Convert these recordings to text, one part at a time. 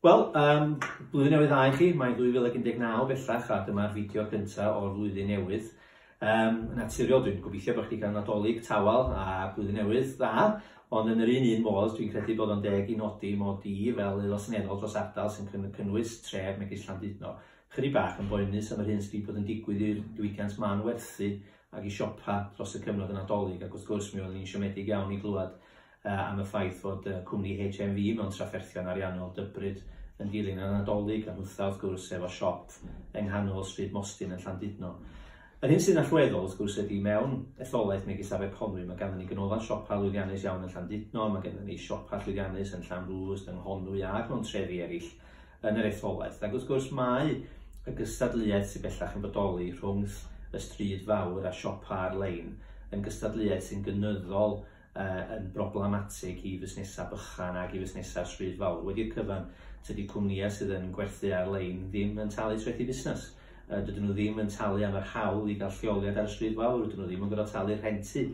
Wel, blwyddyn newydd dda i chi, mae'n 2019 bellach a dyma'r fideo cyntaf o'r flwyddyn newydd. Yn naturiol, dwi'n gobeithio bod chi wedi cael Nadolig tawel a blwyddyn newydd dda, ond yn yr un un modd, dwi'n credu bod o'n deg i nodi mod i fel aelod seneddol dros ardal sy'n cynnwys tref megis Llandudno, chydig bach yn boenus am yr hyn sydd wedi bod yn digwydd i'r diwydiant mân-werthu ac i siopa dros y cyfnod y Nadolig, ac wrth gwrs mi oeddwn i'n siomedig iawn i glywed am y ffaith fod cwmni HMV mewn trafferthion ariannol dybryd yn dilyn y Nadolig, a nhwtha wrth gwrs efo siop yng nghanol Stryd Mostyn yn Llandudno. Yr hyn sy'n allweddol wrth gwrs ydy mewn etholaeth megis Aberconwy mae ganddyn ni ganolfan siopa lwyddiannus iawn yn Llandudno, mae ganddyn ni siopa llwyddiannus yn Llanrwst, yng Nghonwy ac mewn trefi eraill yn yr etholaeth. Ac wrth gwrs mae y gystadleuaeth sydd bellach yn bodoli rhwng y stryd fawr a siopa ar-lein yn gystadleuaeth sy'n gynyddol yn broblematig i fusnesau bychan ac i fusnesau stryd fawr. Wedi'r cyfan, tydi cwmnïau sydd yn gwerthu ar-lein ddim yn talu trethi busnes. Dydyn nhw ddim yn talu am yr hawl i gael lleoliad ar y stryd fawr, dydyn nhw ddim yn gorfod talu rhentu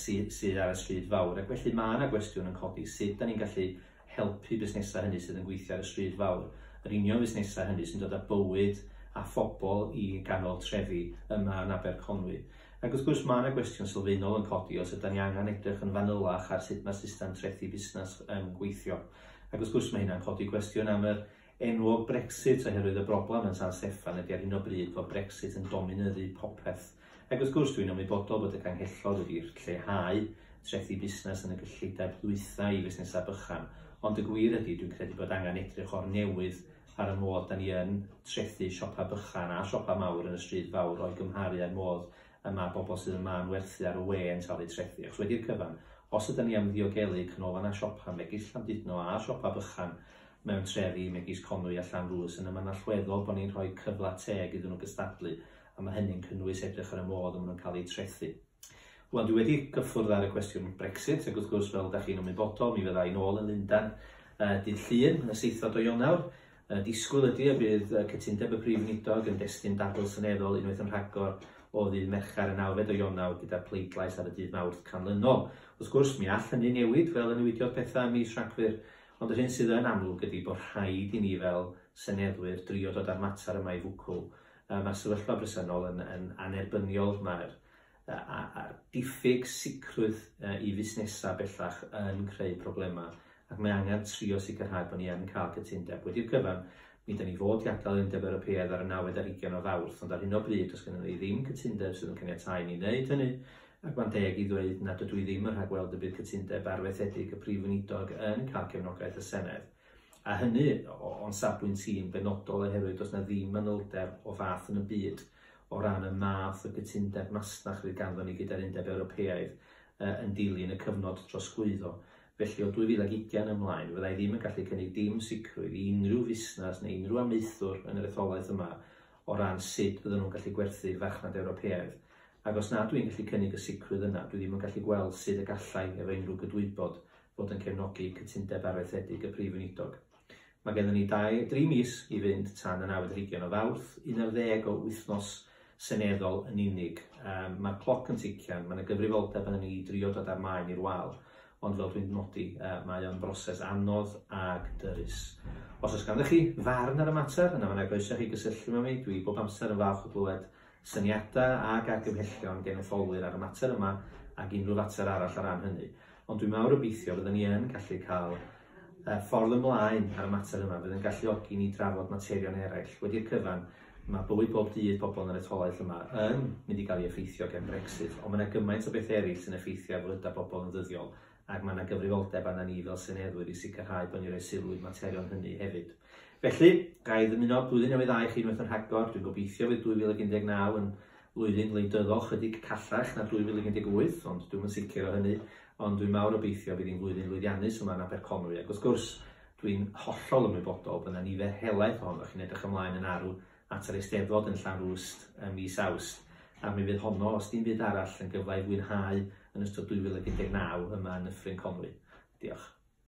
sydd ar y stryd fawr. Ac felly mae yna gwestiwn yn codi, sut da ni'n gallu helpu busnesau hynny sydd yn gweithio ar y stryd fawr, yr union fusnesau hynny sy'n dod â bywyd a phobl i ganol trefi yma yn Aberconwy. Ac wrth gwrs mae yna gwestiwn sylfaenol yn codi os ydy ni angen edrych yn fanylach ar sut mae'r system trethi busnes yn gweithio. Ac wrth gwrs mae hynna'n codi gwestiwn am yr enwog Brexit, oherwydd y broblem yn San Steffan ydy ar hyn o bryd fod Brexit yn dominyddu popeth. Ac wrth gwrs dwi'n ymwybodol bod y Canghellor wedi lleihau trethi busnes yn y gyllideb ddwytha i fusnesau bychan, ond y gwir ydy dwi'n credu bod angen edrych o'r newydd ar y modd da ni yn trethu siopa bychan a siopa mawr yn y stryd fawr o'i gymharu â'r modd y mae bobl sydd yn mân-werthu ar y we yn talu trethi. Achos wedi'r cyfan, os ydyn ni am ddiogelu canolfannau siopa megis Llandudno a siopa bychan mewn trefi megis Conwy a Llanrwst, yna mae'n allweddol bod ni'n rhoi cyfle teg iddyn nhw gystadlu, a mae hynny'n cynnwys edrych ar y modd y maen nhw'n cael eu trethu. Wel, dwi wedi gyffwrdd ar y cwestiwn Brexit, ac wrth gwrs, fel ydych chi'n ymwybodol, mi fydda i'n ôl yn Lundain dydd Llun, y 7 o Ionawr. Disgwyl ydy y bydd cytundeb y Prif Weinidog yn destun dadl seneddol unwaith yn rhagor o ddydd Mercher y 9 o Ionawr gyda pleidlais ar y dydd Mawrth canlynol. Wrth gwrs, mi all hynny newid fel y newidiodd pethau ym mis Rhagfyr, ond yr hyn sydd yn amlwg ydy bod rhaid i ni fel seneddwyr drio dod â'r mater yma i fwcwl. Mae'r sefyllfa bresennol yn anerbyniol, mae'r diffyg sicrwydd i fusnesau bellach yn creu problemau, ac mae angen trio sicrhau bod ni yn cael cytundeb. Wedi'r cyfan, mi dyn ni fod i adael yr Undeb Ewropeaidd ar y 29 o Fawrth, ond ar hyn o bryd does gennym ni ddim cytundeb sydd yn caniatáu ni wneud hynny, ac mae'n deg i ddweud nad ydw i ddim yn rhagweld y bydd cytundeb arfaethedig y Prif Weinidog yn cael cefnogaeth y Senedd. A hynny o'n safbwynt i'n benodol oherwydd does na ddim manylder o fath yn y byd o ran y math o gytundeb masnach fydd ganddo ni gyda'r Undeb Ewropeaidd yn dilyn y cyfnod trosglwyddo. Felly o 2020 ymlaen, fyddai ddim yn gallu cynnig dim sicrwydd i unrhyw fusnes neu unrhyw amaethwr yn yr etholaeth yma o ran sut bydden nhw'n gallu gwerthu i'r farchnad Ewropeaidd. Ac os na dwi'n gallu cynnig y sicrwydd yna, dwi ddim yn gallu gweld sut y gallai efo unrhyw gydwybod fod yn cefnogi cytundeb arfaethedig y Prif Weinidog. Mae gennym ni 3 mis i fynd tan y 29 o Fawrth, 11 o wythnos seneddol yn unig. Mae'r cloc yn tician, mae yna gyfrifoldeb arnon ni i drio dod â'r maen i'r wal, ond fel dwi'n nodi, mae o'n broses anodd ag dyrys. Os oes ganddoch chi farn ar y mater, yna mae yna groeso i chi gysylltu efo mi. Dwi bob amser yn falch o glywed syniadau ac argymhellion gen etholwyr ar y mater yma ac unrhyw fater arall ar ran hynny. Ond dwi'n mawr obeithio byddwn ni yn gallu cael ffordd ymlaen ar y mater yma, fydd yn galluogi ni drafod materion eraill. Wedi'r cyfan, mae bywyd bob dydd pobl yn yr etholaeth yma yn mynd i gael ei effeithio gen Brexit, ond mae yna gymaint o bethau eraill sy'n effeithio ar fywydau bobl yn ddyddiol, ac mae yna gyfrifoldeb arna ni fel seneddwyr i sicrhau bod ni'n rhoi sylw i'r materion hynny hefyd. Felly, ga i ddymuno blwyddyn newydd dda i chi unwaith yn rhagor. Dwi'n gobeithio fydd 2019 yn flwyddyn wleidyddol chydig callach na 2018, ond dwi'm yn sicr o hynny, ond dwi'n mawr obeithio bydd hi'n flwyddyn lwyddiannus yma yn Aberconwy, ac wrth gwrs, dwi'n hollol ymwybodol bod yna nifer helaeth ohonoch chi'n edrych ymlaen yn arw at yr Eisteddfod yn Llanrwst ym mis Awst, a mi fydd honno, os dim byd arall, yn gyfle i fwynhau yn ystod 2019 yma yn Nyffryn Conwy. Diolch.